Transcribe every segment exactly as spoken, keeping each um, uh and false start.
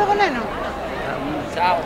logo, neno. Chao.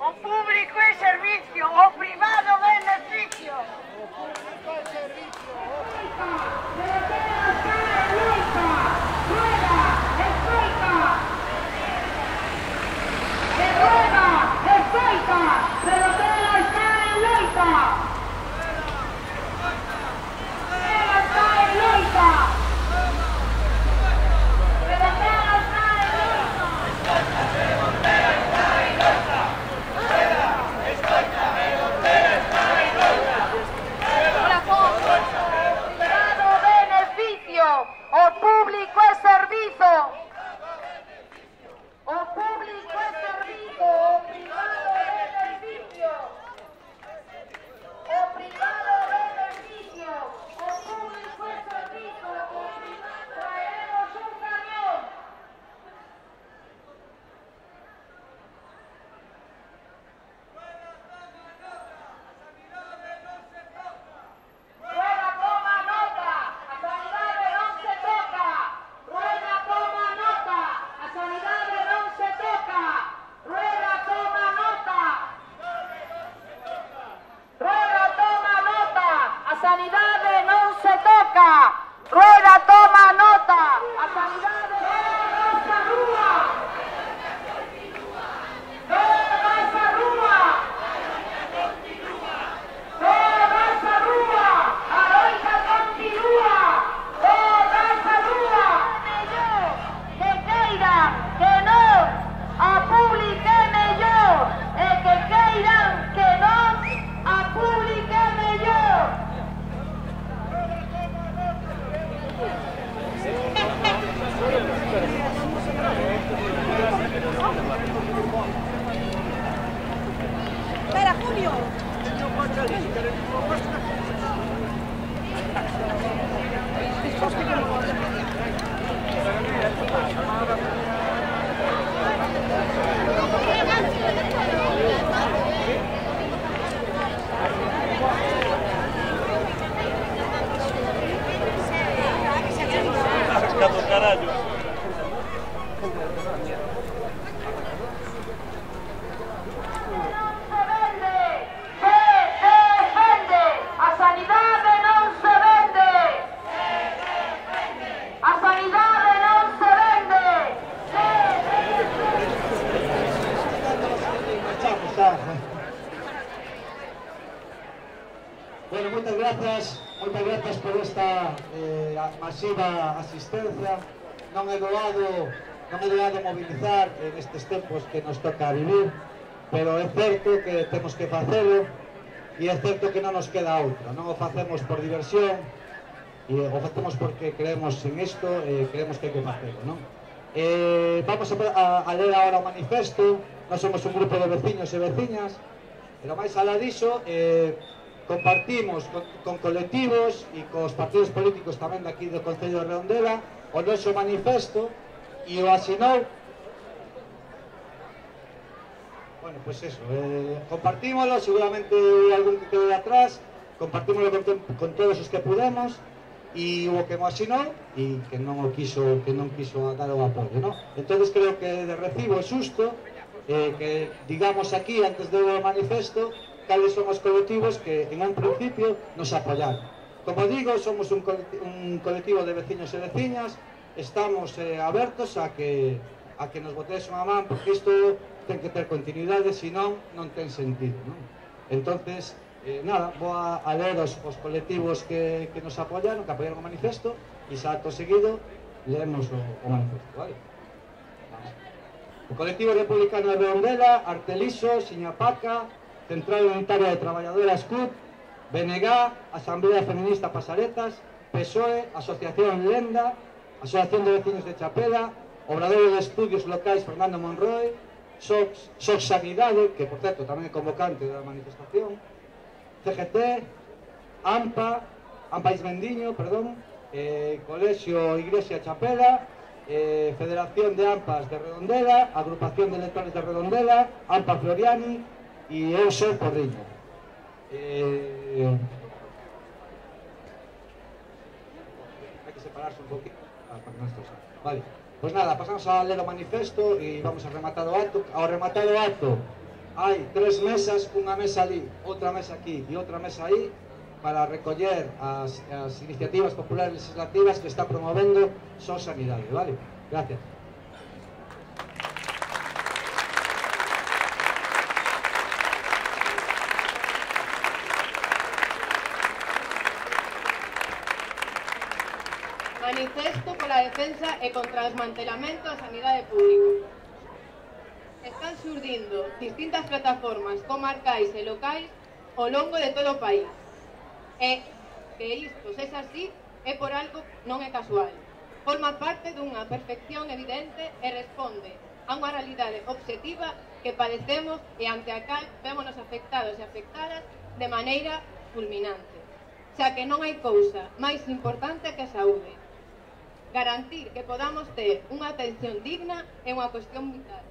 O público é servicio, o privado beneficio. O público é servicio, o Espera, Julio. Carallo. Bueno, moitas grazas, moitas grazas por esta eh, masiva asistencia. Non é doado, non é doado mobilizar en estes tempos que nos toca vivir, pero é certo que temos que facelo e é certo que non nos queda outra. Non o facemos por diversión, e o facemos porque creemos en isto e creemos que hai que facelo, non? Eh, vamos a, a ler agora o manifesto. Nós somos un grupo de veciños e veciñas, pero máis alá diso, eh, compartimos con, con colectivos e cos partidos políticos tamén daqui do Concello de Redondela o noso manifesto e o asinou. Bueno, pois pues eso, eh, compartímolo, seguramente algún que quede atrás, compartímolo con, con todos os que pudemos, e hubo que mo asinou e que non o quiso, que non quiso dar o apoio, non? Entonces creo que de recibo é xusto eh, que digamos aquí, antes do manifesto, cales son os colectivos que en un principio nos apoyaron. Como digo, somos un colectivo, un colectivo de veciños e veciñas, estamos eh, abertos a que, a que nos botedes unha man, porque isto ten que ter continuidade, senón non ten sentido, non? Entonces, Eh, nada, vou a, a ler os, os colectivos que, que nos apoyaron, que apoyaron o manifesto, e xa acto seguido leemos o, o manifesto, vale? Vamos. O colectivo republicano de Redondela, Arteliso, Siñapaca, Central Unitaria de Traballadoras C U T, B N G, Asamblea Feminista Pasaretas, P S O E, Asociación Lenda, Asociación de Vecinos de Chapela, Obradoiro de Estudios Locais Fernando Monroe, Sox, Sox Sanidade, que por certo tamén é convocante da manifestación, C G T, AMPA, AMPA Ismendiño, perdón, eh, Colexio Iglesia Chapela, eh, Federación de AMPAs de Redondela, Agrupación de Electores de Redondela, AMPA Floriani e eu sou Porriño. Eh, hai que separarse un poquito para que non esto. Vale, pois nada, pasamos a ler o manifesto e vamos a rematar o acto. Ao rematar o acto hai tres mesas, unha mesa ali, outra mesa aquí e outra mesa aí para recoller as, as iniciativas populares legislativas que está promovendo Sox Sanidade, vale? Gracias. Manifesto pola defensa e contra o desmantelamento da sanidade pública. Están surdindo distintas plataformas comarcais e locais ao longo de todo o país. E que isto sexa así é por algo non é casual. Forma parte dunha perfección evidente e responde a unha realidade obxectiva que padecemos e ante a cal vémonos afectados e afectadas de maneira fulminante. Xa que non hai cousa máis importante que a saúde. Garantir que podamos ter unha atención digna é unha cuestión vital.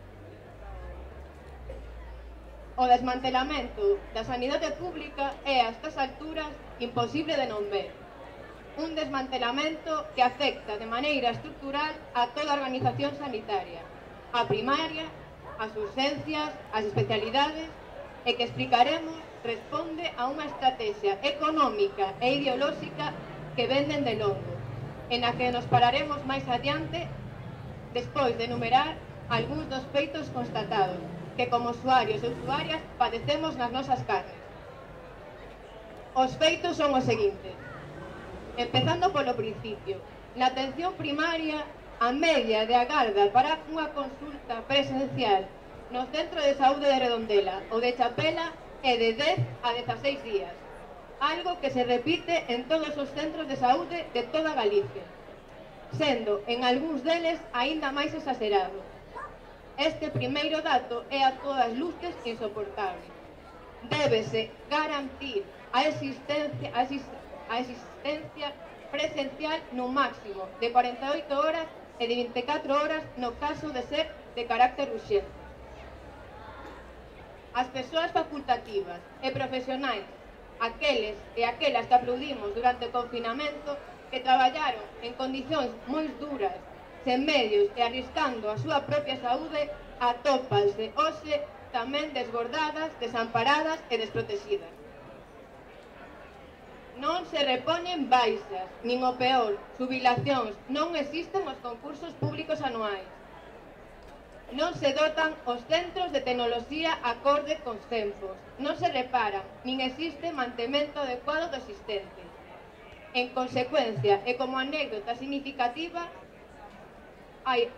O desmantelamento da sanidade pública é a estas alturas imposible de non ver. Un desmantelamento que afecta de maneira estructural a toda a organización sanitaria, a primaria, as urxencias, as especialidades, e que explicaremos responde a unha estrategia económica e ideolóxica que venden de longo, en a que nos pararemos máis adiante despois de enumerar algúns dos feitos constatados que como usuarios e usuarias padecemos nas nosas carnes. Os feitos son os seguintes. Empezando polo principio, na atención primaria, a media de agarda para unha consulta presencial no Centro de Saúde de Redondela ou de Chapela é de dez a dezaseis días, algo que se repite en todos os centros de saúde de toda Galicia, sendo en algúns deles aínda máis exagerado. Este primeiro dato é a todas luces insoportable. Débese garantir a existencia, a existencia presencial no máximo de cuarenta e oito horas e de vinte e catro horas no caso de ser de carácter urxente. As persoas facultativas e profesionais, aqueles e aquelas que aplaudimos durante o confinamento, que traballaron en condicións moi duras, sen medios e arriscando a súa propia saúde, atópanse hoxe tamén desbordadas, desamparadas e desprotegidas. Non se repoñen baixas, nin o peor, xubilacións, non existen os concursos públicos anuais. Non se dotan os centros de tecnoloxía acorde cos tempos, non se reparan, nin existe mantemento adecuado do existente. En consecuencia, e como anécdota significativa, hai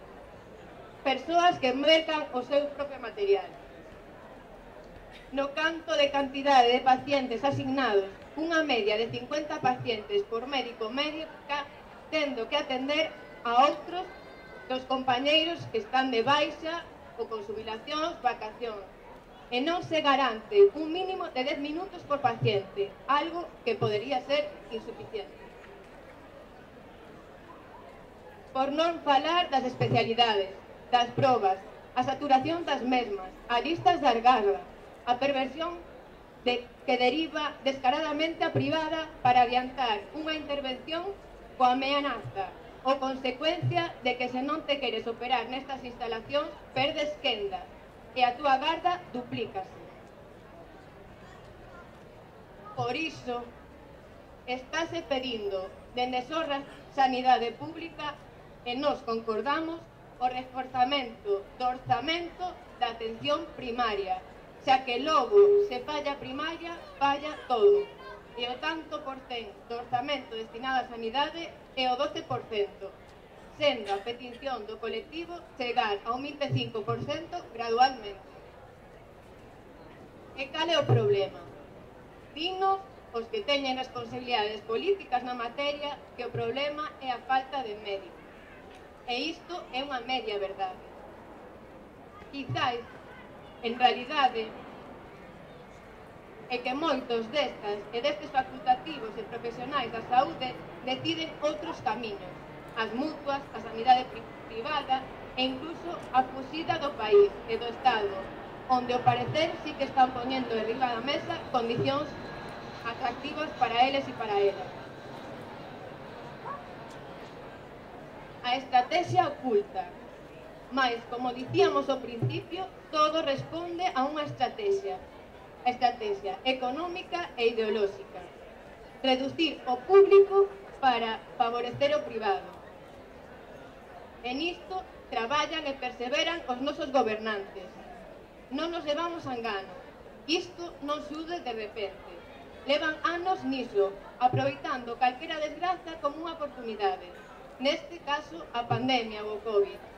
persoas que mercan o seu propio material. No canto de cantidade de pacientes asignados, unha media de cincuenta pacientes por médico médica, tendo que atender a outros dos compañeiros que están de baixa ou con xubilacións, vacacións, e non se garante un mínimo de dez minutos por paciente, algo que podería ser insuficiente. Por non falar das especialidades, das probas, a saturación das mesmas, a listas de agarda, a perversión de, que deriva descaradamente a privada para adiantar unha intervención coa ameaza ou consecuencia de que se non te queres operar nestas instalacións perdes quenda e a túa garda duplícase. Por iso, estáse pedindo dende Sorra Sanidade Pública e nos concordamos o reforzamento do orzamento da atención primaria, xa que logo se falla primaria, falla todo. E o tanto por cento do orzamento destinado á sanidade é o doce por cento, sendo a petición do colectivo chegar ao vinte e cinco por cento gradualmente. E cal é o problema? Dignos os que teñen responsabilidades políticas na materia que o problema é a falta de médicos. E isto é unha media verdade. Quizais, en realidade, é que moitos destas e destes facultativos e profesionais da saúde deciden outros camiños, as mutuas, a sanidade privada e incluso a fuxida do país e do Estado, onde ao parecer sí que están poñendo de riba da mesa condicións atractivas para eles e para elas. A estrategia oculta, mas, como dicíamos ao principio, todo responde a unha estrategia, a estrategia económica e ideolóxica. Reducir o público para favorecer o privado. E nisto traballan e perseveran os nosos gobernantes. Non nos levamos a engano. Isto non sude de repente. Levan anos niso, aproveitando calquera desgraza como unha oportunidade. Neste caso, a pandemia ou o COVID.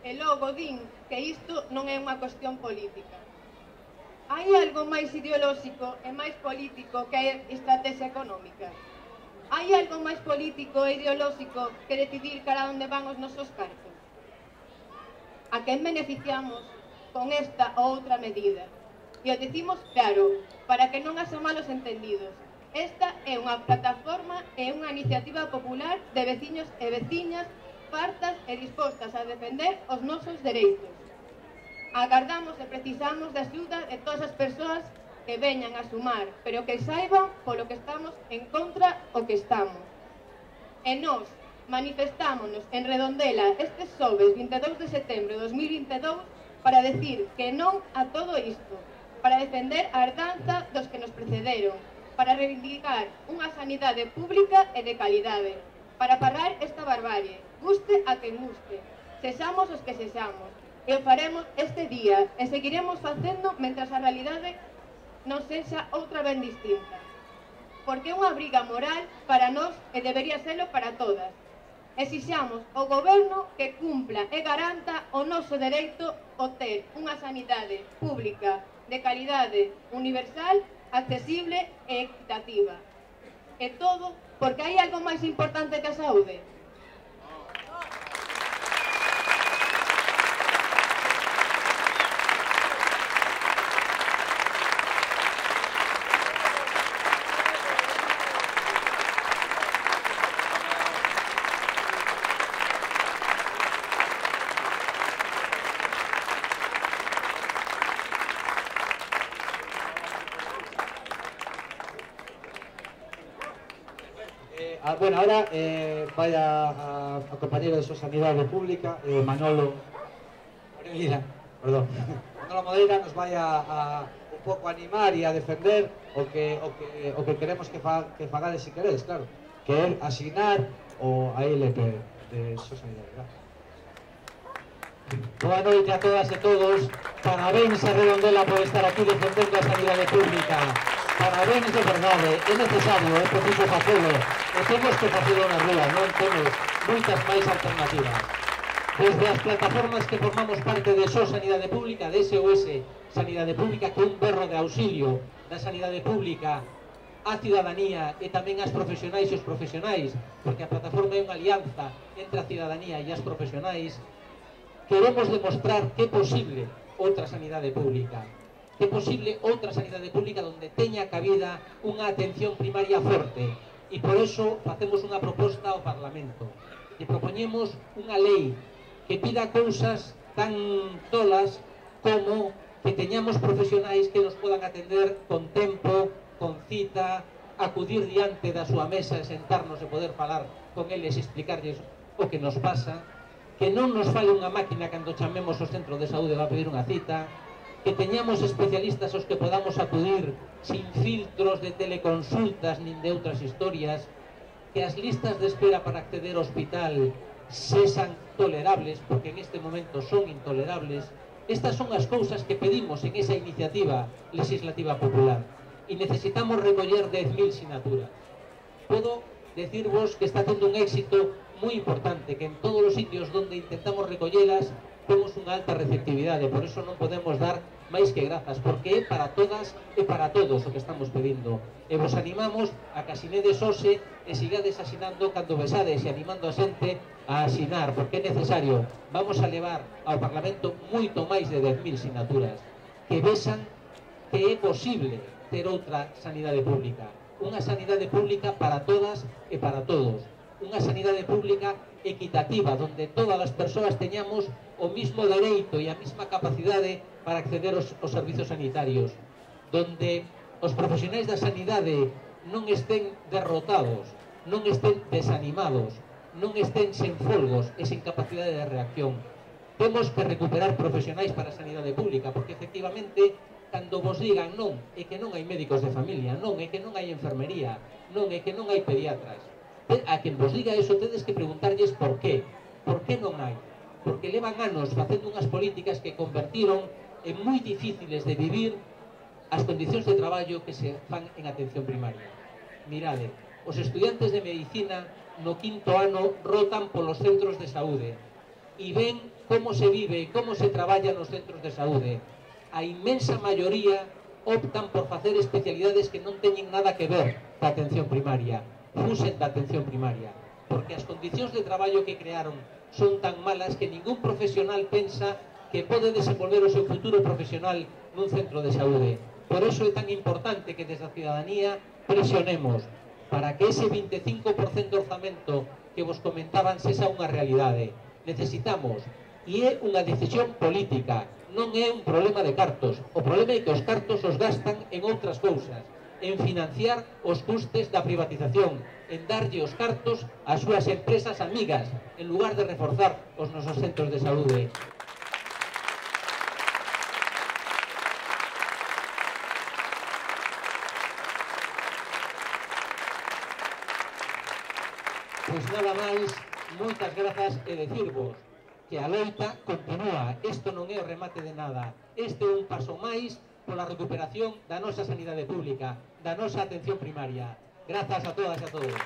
E logo din que isto non é unha cuestión política. Hai algo máis ideolóxico e máis político que a estrategia económica? Hai algo máis político e ideolóxico que decidir cara onde van os nosos cartos? A quen beneficiamos con esta ou outra medida? E o decimos claro, para que non haxa malos entendidos. Esta é unha plataforma e unha iniciativa popular de veciños e veciñas fartas e dispostas a defender os nosos dereitos. Agardamos e precisamos de axuda de todas as persoas que veñan a sumar, pero que saiban polo que estamos en contra o que estamos. E nós manifestámonos en Redondela este xoves vinte e dous de setembro de dos mil vinte e dous para decir que non a todo isto, para defender a herdanza dos que nos precederon, para reivindicar unha sanidade pública e de calidade, para parar esta barbarie, guste a quen guste, sexamos os que sexamos, e o faremos este día, e seguiremos facendo mentras a realidade non sexa outra ben distinta. Porque é unha briga moral para nós e debería serlo para todas. Exixamos ao goberno que cumpla e garanta o noso dereito a ter unha sanidade pública de calidade universal, accesible e equitativa. E todo porque hai algo máis importante que a saúde. Ah, bueno, ahora eh, vaya a, a compañero de su Sanidade Pública, eh, Manolo Moreira, perdón, Manolo Moreira nos vaya a un pouco animar e a defender o que, o que, o que queremos que, fa, que fagades si queréis, claro, que é asignar o a I L P de su Sanidade. Boa noite a todas e todos, parabéns a Redondela por estar aquí defendendo a sanidade pública. Parabéns de verdade, é necesario, é preciso facelo, e temos que facelo na rúa, non temos moitas máis alternativas. Desde as plataformas que formamos parte de S O Sanidade Pública, de S O S Sanidade Pública, que un berro de auxilio da sanidade pública á cidadanía e tamén ás profesionais e os profesionais, porque a plataforma é unha alianza entre a cidadanía e as profesionais, queremos demostrar que é posible outra sanidade pública. Que é posible outra sanidade pública onde teña cabida unha atención primaria forte. E por eso facemos unha proposta ao Parlamento. E propoñemos unha lei que pida cousas tan tolas como que teñamos profesionais que nos podan atender con tempo, con cita, acudir diante da súa mesa e sentarnos e poder falar con eles e explicarlles o que nos pasa, que non nos fale unha máquina cando chamemos ao centro de saúde para pedir unha cita, que teñamos especialistas aos que podamos acudir sin filtros de teleconsultas nin de outras historias, que as listas de espera para acceder ao hospital sexan tolerables, porque en este momento son intolerables. Estas son as cousas que pedimos en esa iniciativa legislativa popular e necesitamos recoller dez mil sinaturas. Podo decirvos que está tendo un éxito moi importante, que en todos os sitios onde intentamos recollelas temos unha alta receptividade, por eso non podemos dar máis que grazas, porque é para todas e para todos o que estamos pedindo. E vos animamos a que asinedes hoxe e sigades asinando cando besades e animando a xente a asinar, porque é necesario. Vamos a levar ao Parlamento moito máis de dez mil sinaturas que vexan que é posible ter outra sanidade pública, unha sanidade pública para todas e para todos, unha sanidade pública equitativa, onde todas as persoas teñamos o mismo dereito e a mesma capacidade para acceder aos, aos servizos sanitarios, donde os profesionais da sanidade non estén derrotados, non estén desanimados, non estén sen folgos e sen capacidade de reacción. Temos que recuperar profesionais para a sanidade pública, porque efectivamente, cando vos digan non, é que non hai médicos de familia, non, é que non hai enfermería, non, é que non hai pediatras. A quen vos diga eso, tedes que preguntarlles por qué. Por qué non hai? Porque levan anos facendo unhas políticas que convertiron en moi difíciles de vivir as condicións de traballo que se fan en atención primaria. Mirade, os estudiantes de medicina no quinto ano rotan polos centros de saúde e ven como se vive e como se traballa nos centros de saúde. A inmensa maioría optan por facer especialidades que non teñen nada que ver ca atención primaria, fusen da atención primaria, porque as condicións de traballo que crearon son tan malas que ningún profesional pensa que pode desenvolver o seu futuro profesional nun centro de saúde. Por eso é tan importante que desde a ciudadanía presionemos para que ese vinte e cinco por cento orzamento que vos comentaban sexa unha realidade. Necesitamos, e é unha decisión política, non é un problema de cartos. O problema é que os cartos os gastan en outras cousas, en financiar os custes da privatización, en darlle os cartos ás súas empresas amigas, en lugar de reforzar os nosos centros de saúde. Pois nada máis, moitas grazas e decirvos que a loita continúa. Isto non é o remate de nada. Este é un paso máis pola recuperación da nosa sanidade pública, da nosa atención primaria. Grazas a todas e a todos.